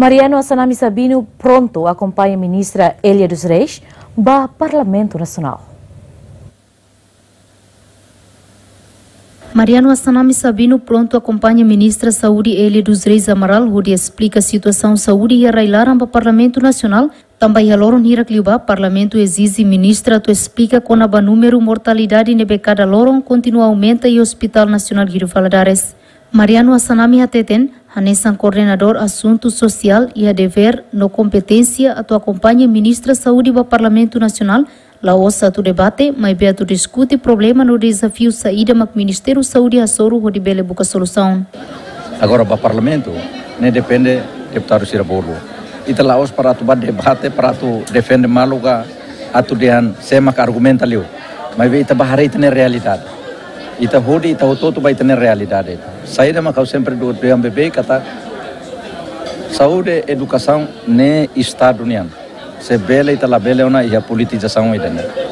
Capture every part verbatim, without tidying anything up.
Mariano Assanami Sabino prontu akompaña Ministra Elia dos Reis ba Parlamentu Nasionál. Mariano Assanami Sabino prontu akompaña Ministra Saúde Elia dos Reis Amaral hodi esplika situasaun saúde iha rai-laran ba Parlamentu Nasionál, tanba iha loron hirak liubá Parlamentu ezije Ministra atu esplika kona-ba númeru mortalidade ne'ebé kada loron kontinua aumenta iha Hospital Nasionál Guido Valadares. Mariano Assanami hateten, hanesan koordenadór asuntu sosiál iha devér no kompeténsia atu akompaña Ministra Saúde ba Parlamentu Nasionál, la'ós atu debate, maibé atu diskute problema no dezafiu saida mak Ministériu Saúde hasoru hodi bele buka solusaun. Agora ba Parlamentu, ne'e depende deputadu sira bolu. Ita la'ós para atu ba debate, para atu defende malu ka atu dehan sé mak argumenta liu. Maibé ita ba haree ita-nia realidade. Ita hodi, ita hotu-hotu ba ita-nia realidade. Saida mak ha'u sempre du-, dehan beibeik katak saúde, edukasaun ne'e Estadu nian. Se bele ita labele ona iha politizasaun ida-ne'e.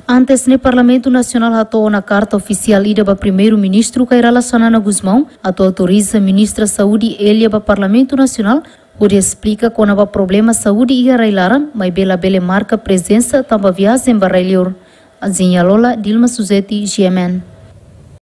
Antes ne'e Parlamentu Nasionál hato'o ona karta ofisiál ida ba Primeiru-Ministru Kay Rala Xanana Gusmão atu autoriza Ministra Saúde Elia ba Parlamentu Nasionál hodi esplika kona-ba problema saúde iha rai-laran, maibé labele marka prezensa tanba viajen ba rai-liur. Azinha Lola, Dilma Suzeti, G M N.